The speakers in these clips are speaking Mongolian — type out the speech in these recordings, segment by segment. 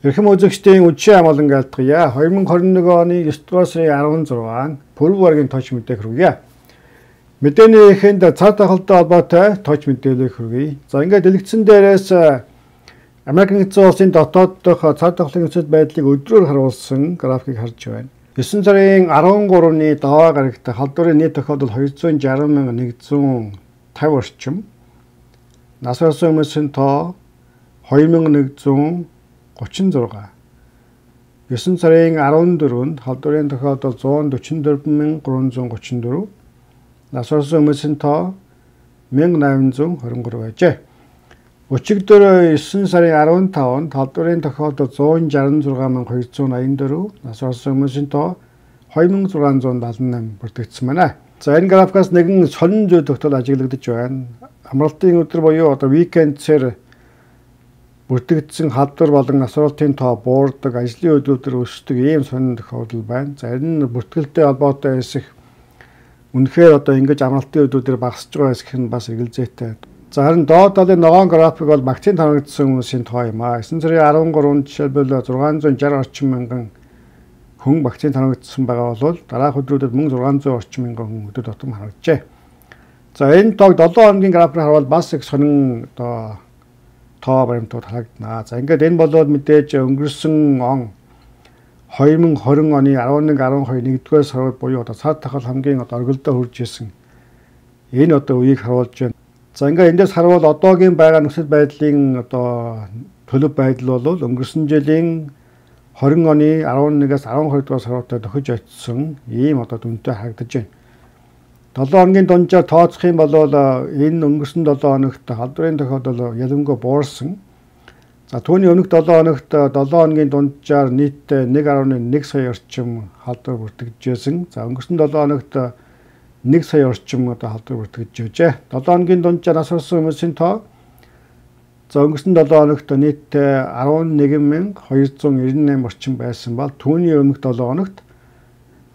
Эрхэм үзэгчдийн үдшийн амгалан айлтгая. 2021 оны 9 дугаар сарын 16 Пүрэв гарагийн тооч мэдээг хүргье. Мэдээний эхэнд цар тахалтай холбоотой тооч мэдээлэл хүргэе. За ингээд дэлгэцэн дээрээс Америк нэгдсэн улсын дотоод дахь цар тахлын нөхцөл байдлыг өдрөөр харуулсан графикийг харж байна. 9 сарын 13-ны даваа гарагт халдварын нийт тохиолдол 260,150 орчим. Нас барсан хүмүүсийн тоо 2136. 9 сарын 14-нд халдварын тохиолдол 144,334. Нас барсан хүмүүсийн тоо 1823 байжээ. Өчигдөр 9 сарын 15-нд халдварын тохиолдол 166,284. Нас барсан хүмүүсийн тоо 2678 бүртгэгдсэн байна. За энэ графикаас нэгэн сонин зүйл тогтоол ажиглагдаж байна. Амралтын өдөр буюу викендсээр бүртгэгдсэн халдвар болон асуултын тоо буурдаг, ажлын өдрүүдээр өсдөг ийм сонин тохиолдол байна. За энэ бүртгэлтэй холбоотой хэсэг үнэхээр ингэж амралтын өдрүүдээр багасж байгаа хэсэг нь бас эргэлзээтэй. За харин доод талын ногоон график бол вакцин тавигдсан хүмүүсийн тоо юм аа. 9 сарын 13-нд жишээлбэл 660 орчим мянган хүн вакцин тавигдсан байгаа бол дараах өдрүүдэд 1600 орчим мянган хүн өдөр тутам харагджээ. За энэ тоог 7 хоногийн графикаар харвал бас их сонин тоо баримтууд харагдана. За ингээд энэ бол мэдээж өнгөрсөн он 2020 оны 11-12 нэгдүгээр сард буюу цар тахал хамгийн оргилдоо хүрж исэн энэ үеийг харуулж байна. За ингээд эндээс харвал одоогийн байгаа нөхцөл байдлын төлөв байдал бол өнгөрсөн жилийн 20 оны 11-ээс 12 дугаар сард тохиж очсон ийм дүнтэй харагдаж байна. 7 хоногийн дунджаар тооцох юм бол энэ өнгөрсөн 7 хоногт халдварын тохиолдол ялангуяа буурсан. За түүний өмнөх 7 хоногт 7 хоногийн дунджаар нийтдээ 1.1 сая орчим халдвар бүртгэжсэн. За өнгөрсөн 7 хоногт 1 сая орчим халдвар бүртгэж байжээ. 7 хоногийн дунджаар нас барсан хүмүүсийн тоо за өнгөрсөн 7 хоногт нийтдээ 11,298 орчим байсан бол түүний өмнөх 7 хоногт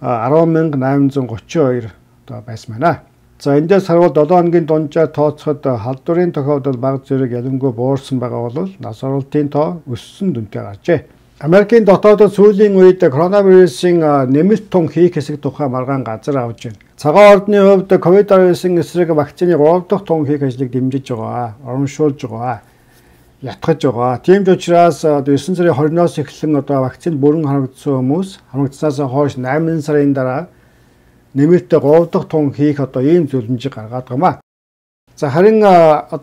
10,832 байсан байна. За эндээс харвал 7 хоногийн дунджаар тооцоход халдварын тохиолдол бага зэрэг ялангуяа буурсан байгаа бол нас баралтын тоо өссөн дүнтэй гарчээ. Америкийн дотоодод сүүлийн үед коронавирусын нэмэлт тун хийх хэсэг тухай маргаан газар авж байна. Цагаан ордны хувьд ковид-19 эсрэг вакцины 3 дахь тун хийх ажлыг дэмжиж байгаа, урамшуулж байгаа, ятгах байгаа. Тийм ч учраас 9 сарын 20-оос эхлэн вакцинд бүрэн харагдсан хүмүүс хамрагдсанаас хойш 8 сарын дараа нэмэлтээ 3 дахь тун хийх ийм зөвлөмжийг гаргаад байна. За харин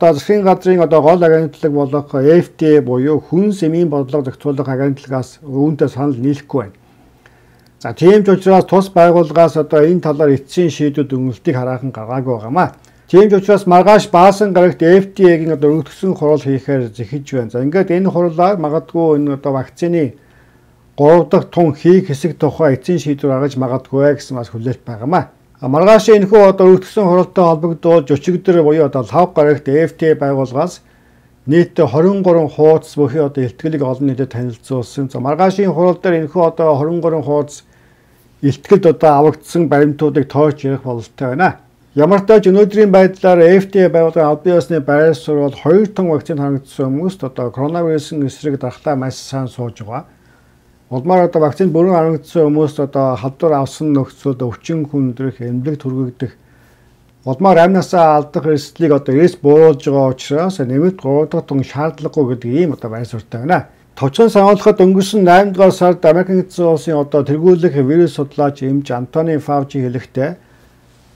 засгийн газрын гол агентлаг болох FDA буюу хүнс эмийн бодлого зохицуулах агентлагаас үүнтэй санал нийлэхгүй байна. За тийм ч учраас тус байгууллагаас энэ талаар эцсийн шийдвэр өгнөлтийг хараахан гаргаагүй байгаамаа. Тийм ч учраас маргааш баасан гарагт FDA-гийн өргөдсөн хурал хийхээр зэхэж байна. За ингээд энэ хурлаар магадгүй энэ вакцины 3 дахь тун хийх хэсэг тухай эцсийн шийдвэр гаргаж магадгүй гэсэн бас хүлээлт байгаамаа. Маргааш энэхүү өргөдсөн хуралтай холбогдуулж өчигдөр буюу 5 гарагт FDA байгууллагаас нийтдээ 23 хуудас бүхий илтгэлийг олон нийтэд танилцуулсан. За маргаашийн хурал дээр энэхүү 23 хуудас илтгэлд авагдсан баримтуудыг тоож ярих бололтой байна. Ямар ч тач өнөөдрийн байдлаар FDA байгууллагын албан ёсны байр суурь бол 2 тонн вакцин хангагдсан хүмүүст коронавирусын эсрэг дархлаа маш сайн сууж байгаа. Улмаар вакцин бүрэн харагдсан хүмүүст халдвар авсан нөхцөлд өвчин хүндрэх, эмнэлэг түргэгдэх, улмаар амнасаа алдах эрсдлийг эрс бууруулж байгаа учраас нэмэлт 3 дахь тун шаардлагагүй гэдэг ийм байр суурьтай байна. Товчхон сануулгад өнгөрсөн 8 дугаар сард Америк нэгдсэн улсын тэргүүлэх вирус судлаач эмч Антони Фаучи хэлэхдээ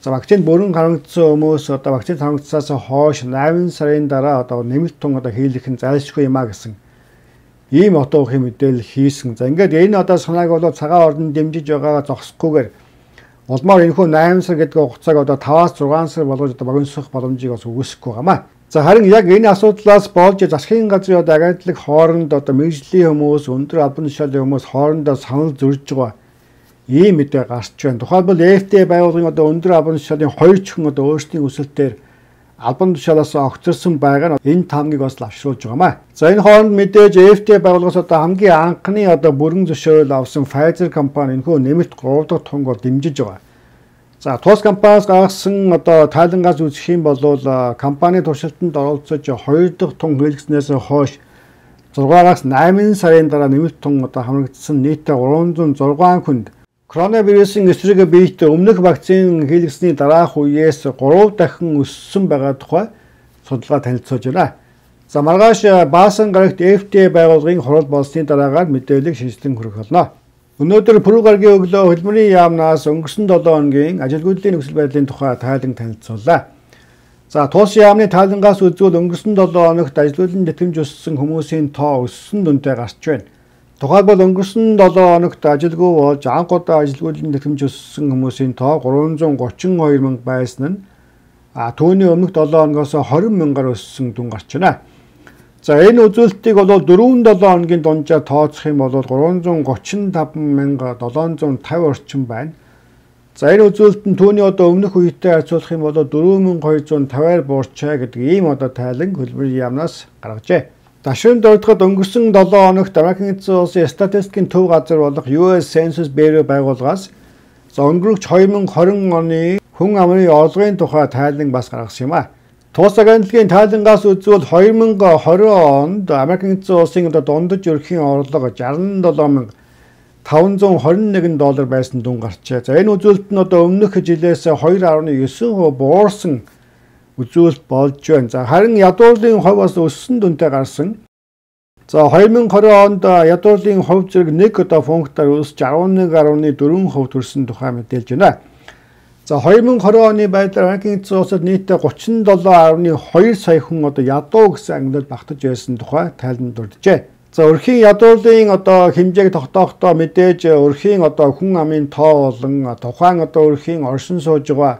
вакцинд бүрэн харагдсан хүмүүс вакцин харагдсанаас хойш 8 сарын дараа нэмэлт тун хийх нь зайлшгүй юм а гэсэн ийм утгын мэдээлэл хийсэн. За ингээд энэ санааг бол цагаан ордонд дэмжиж байгаагаа зогсохгүйгээр улмаар энэхүү 8 сар гэдэг хугацааг 5-6 сар болгож богиносох боломжийг бас үгүйсэхгүй байгаамаа. За харин яг энэ асуудлаас болж засгийн газрын агентлаг хооронд мэргэжлийн хүмүүс, өндөр албан тушаалын хүмүүс хоорондоо санал зөрж байгаа ийм мэдээ гарч байна. Тухайлбал FDA байгууллагын өндөр албан тушаалын 2 чихэн өөрсдийн өсөлтөөр албан тушаалаас огцорсон байгаа нь энэ таамгийг бас лавшруулж байгаамаа. За энэ хооронд мэдээж FDA байгууллагаас хамгийн анхны бүрэн зөвшөөрөл авсан Pfizer компани энэхүү нэмэлт 3 дахь тунг дэмжиж байгаа. За тус компаниас гаргасан тайлангаас үзэх юм бол компани туршилтанд оролцож 2 дахь тун хийлгэснээс хойш 6-аас 8 сарын дараа нэмэлт тун одоо хамрагдсан нийтдээ 306 хүнд коронавирусын эсрэг биетэй өмнөх вакцин хийлгэсний дараах үеэс 3 дахин өссөн байгаа тухай судалгаа танилцуулж байна. За маргааш Баасан гарагт FDA байгууллагын хурал болсны дараагаар мэдээлэл шийдсэн хүрэх болно. Өнөөдөр Пүрэв гарагийн өглөө хөдөлмөрийн яамнаас өнгөрсөн 7 хоногийн ажилгүйдлийн нөхцөл байдлын тухай тайлан танилцууллаа. За туус яамны тайлангаас үзвэл өнгөрсөн 7 хоногт ажилгүйдлийн тэтгэмж өссөн хүмүүсийн тоо өссөн дүнтэй гарч байна. Тухайлбал өнгөрсөн 7 хоногт ажилгүй болж анх удаа ажилгүйдлийн тэтгэмж өссөн хүмүүсийн тоо 332 мянга байсан нь түүний өмнөх 7 хоногоос 20 мянгаар өссөн дүн гарч байна. За энэ үзүүлэлтийг бол 4-7 хоногийн дунджаар тооцох юм бол 335,750 орчим байна. За энэ үзүүлэлт нь түүний одоо өмнөх үетэй харьцуулах юм бол 4,250-аар буурчаа гэдэг ийм одоо тайлан хөдөлмөрийн яамнаас гаргажээ. Дашрын дөрөвдөд өнгөрсөн 7 хоногт Америкийн эзэн улсын статистикийн төв газар болох US Census Bureau байгууллагаас өнгөрөх 2020 оны хүн амын орлогын тухай тайлан бас гаргасан юм а. Туус агентлагийн тайлангаас үзвэл 2020 онд Америкийн эзэн улсын дундаж ерөнхий орлого $67,521 байсан дүн гарчээ. За энэ үзүүлэлт нь одоо өмнөх жилээс 2.9% буурсан үзүүлэлт болж байна. За харин ядуурлын хувь бас өссөн дүнтэй гарсан. За 2020 онд ядуурлын хувь зэрэг нэг одоо пунктаар өсөж 11.4% төрсөн тухай мэдээлж байна. За 2020 оны байдлаар Америкийн эзэн улсад нийтдээ 37.2 сая хүн одоо ядуу гэсэн ангилалд багтаж байсан тухай тайлбар дурджээ. За өрхийн ядуурлын одоо хэмжээг тогтоохдоо мэдээж өрхийн одоо хүн амын тоо болон тухайн одоо өрхийн оршин сууж байгаа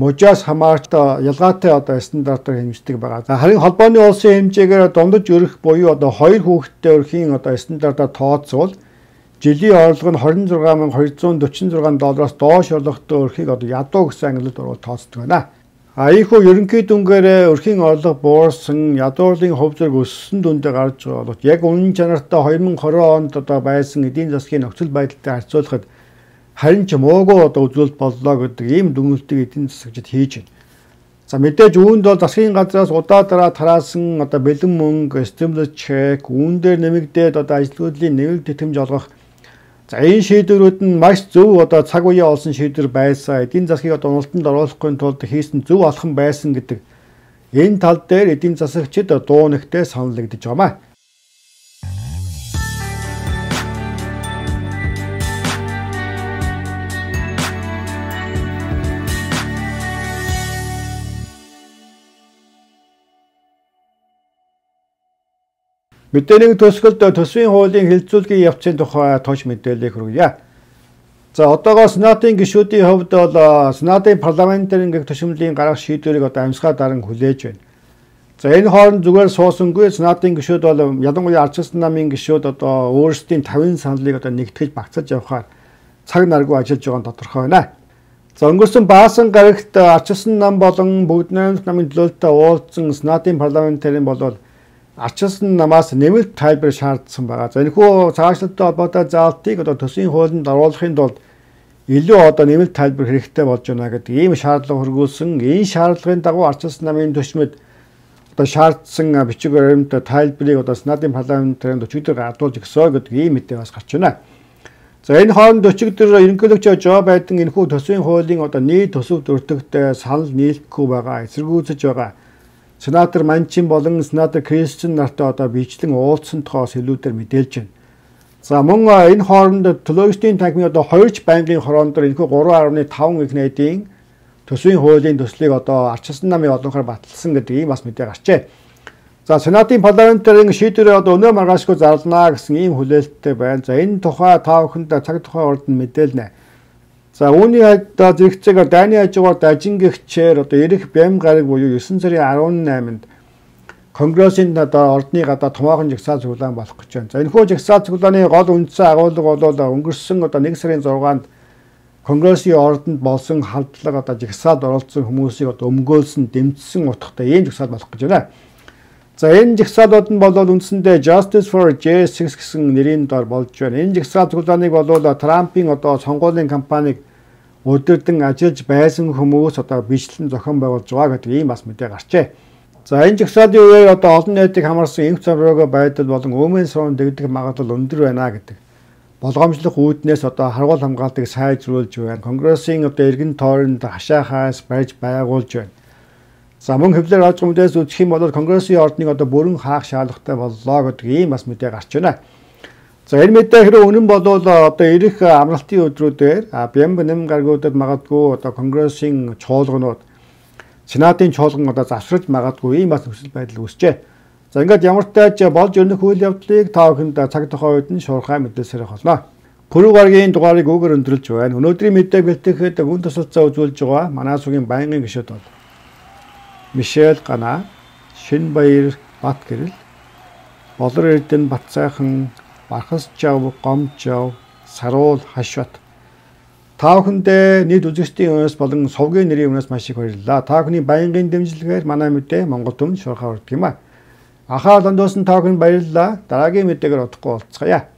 мужаас хамаарч ялгаатай одоо стандартаар хэмждэг байгаа. За харин холбооны улсын хэмжээгээр дундаж өрөх буюу одоо 2 хүүхэдтэй өрхийн одоо стандартаар тооцвол жилийн орлого нь $26,246 доош орлоготой өрхийг одоо ядуу гэсэн ангилалд оруулж тооцдог байна. Ийхүү ерөнхий дүнгээр өрхийн орлого буурсан, ядуурлын хувь зэрэг өссөн дүндээ гарч байгаа бол яг үнэн чанартай 2020 онд одоо байсан эдийн засгийн нөхцөл байдалтай харьцуулахад харин ч муугүй одоо үзүүлэлт боллоо гэдэг ийм дүгнэлтийг эдийн засагчид хийж байна. За мэдээж үүнд бол засгийн газраас удаа дараа тараасан одоо бэлэн мөнгө, stimulus check, үүн дээр нэмэгдээд одоо ажилгүйдлийн нэмэлт тэтгэмж олгох. За энэ шийдвэрүүд нь маш зөв одоо цаг үеэ олсон шийдвэр байсан. Эдийн засгийг одоо уналтанд оруулахгүй тулд хийсэн зөв алхам байсан гэдэг энэ тал дээр эдийн засагчид дуу нэгтэй саналагдаж байгаамаа. Мэдээний төсгөлд төсвийн хуулийн хэлэлцүүлгийн явцын тухай тооч мэдээлэл хүргье. За одоогоо Сенатын гишүүдийн хувьд бол Сенатын парламентын төшөмлийн гаргах шийдвэрийг одоо амьсгаа даран хүлээж байна. За энэ хооронд зүгээр суусангүй Сенатын гишүүд бол ялангуяа ардчилсан намын гишүүд одоо өөрсдийн 50 саналыг одоо нэгтгэж багцаж явахаар цаг наргүй ажиллаж байгаа нь тодорхой байна. За өнгөрсөн Баасан гарагт ардчилсан нам болон бүгд найрамдах намын төлөөлөлтөд уулзсан Сенатын парламентарын болол ардчилсан намаас нэмэлт тайлбар шаардсан байгаа. За энэхүү цаашлалтай холбоотой заалтыг одоо төсвийн хуулинд оруулахын тулд илүү одоо нэмэлт тайлбар хэрэгтэй болж байна гэдэг ийм шаардлага хөргүүлсэн. Энэ шаардлагын дагуу ардчилсан намын төчмөд одоо шаардсан бичиг баримт тайлбарыг одоо Сенатын парламентын өчигдөр гардуулж өгсөө гэдэг ийм мэдээ бас гарч байна. За энэ хооронд өчигдөр ерөнхийлөгч Жо Байден энэхүү төсвийн хуулийн одоо нийт төсөвт өртөгтэй санал нийлэхгүй байгаа, эсэргүүцэж байгаа. Сенатор Манчин болон Сенатор Кристен нартай одоо бичлэн уулзсан тухайс илүүдээр мэдээлж байна. За мөн энэ хооронд төлөөлөгчдийн танхимын одоо 2 байнгын хороондор энэхүү 3.5 их найдын төсвийн хуулийн төслийг одоо ардчилсан намын олонхоор баталсан гэдэг ийм бас мэдээ гарчээ. За Сенатын парламентын шийдвэрээ одоо өнөө маргаашгүй зарлана гэсэн ийм хүлээлттэй байна. За энэ тухай та бүхэнд цаг тухай урд нь мэдээлнэ. За үүний хойд зэрэгцээгээр дайны хажуугаар дажингэгчээр одоо эрэх бям гараг буюу 9 сарын 18-нд Конгрессийн одоо ордны гадаа томоохон жагсаал цуглаан болох гэж байна. За энэхүү жагсаал цуглааны гол үндсэн агуулга бол өнгөрсөн одоо 1 сарын 6-нд Конгрессийн ордонд болсон халдлага одоо жагсаалд оролцсон хүмүүсийг одоо өмгөөлсөн, дэмжсэн утгатай ийм жагсаал болох гэж байна. За энэ жагсаалууд нь бол үндсэндээ Justice for J6 гэсэн нэрийн дор болж байна. Энэ жагсаал цуглааныг бол Трампын одоо сонгуулийн кампаниг өдөрдөн ажиллаж байсан хүмүүс одоо бичлэн зохион байгуулж байгаа гэдэг ийм бас мэдээ гарчээ. За энэ жагсаалтын үеэр одоо олон нийтийг хамарсан эмх зураг байдал болон өөмийн сувн дэгдэх магадлал өндөр байна гэдэг. Болгоомжлох үүднээс одоо харгуул хамгаалтыг сайжруулж байна. Конгрессийн одоо эргэн тойронд хашаахаас барьж байгуулж байна. За мөн хэвлэр аж гүмдээс үзэх юм бол Конгрессийн ордныг одоо бүрэн хаах шаардлагатай боллоо гэдэг ийм бас мэдээ гарч байна. За энэ мэдээ хэрэг үнэн бол одоо ирэх амралтын өдрүүдээр Бямб гаргуудад магадгүй одоо Конгрессийн чуулганууд Сенатын чуулган одоо завсраж магадгүй ийм бас нөхцөл байдал үүсчээ. За ингээд ямар ч тааж болж өрнөх үйл явдлыг та бүхэнд цаг тухайн үед нь шуурхай мэдээлсээр болно. Пүрэв гарагийн дугаарыг үгээр өндөрлж байна. Өнөөдрийн мэдээг бэлтгэхэд үн тусалцаа үзүүлж байгаа манай сүгийн байнгын гишүүд бол Мишель Гана, Шинбаяр Батгэрэл, Болор Эрдэнэ Батцайхан, Бархас Жав, Гомжав, Саруул Хашбат. Та бүхэндээ нийт үзэгчдийн өмнөөс болон сувгийн нэрийн өмнөөс маш их баярлалаа. Та бүхний байнгын дэмжлэгээр манай мэдээ Монгол Түмэнд шуурхай хүрдэг юм а. Ахаа ландуусан та бүхэнд баярлалаа. Дараагийн мэдээгээр удахгүй уулзцаая.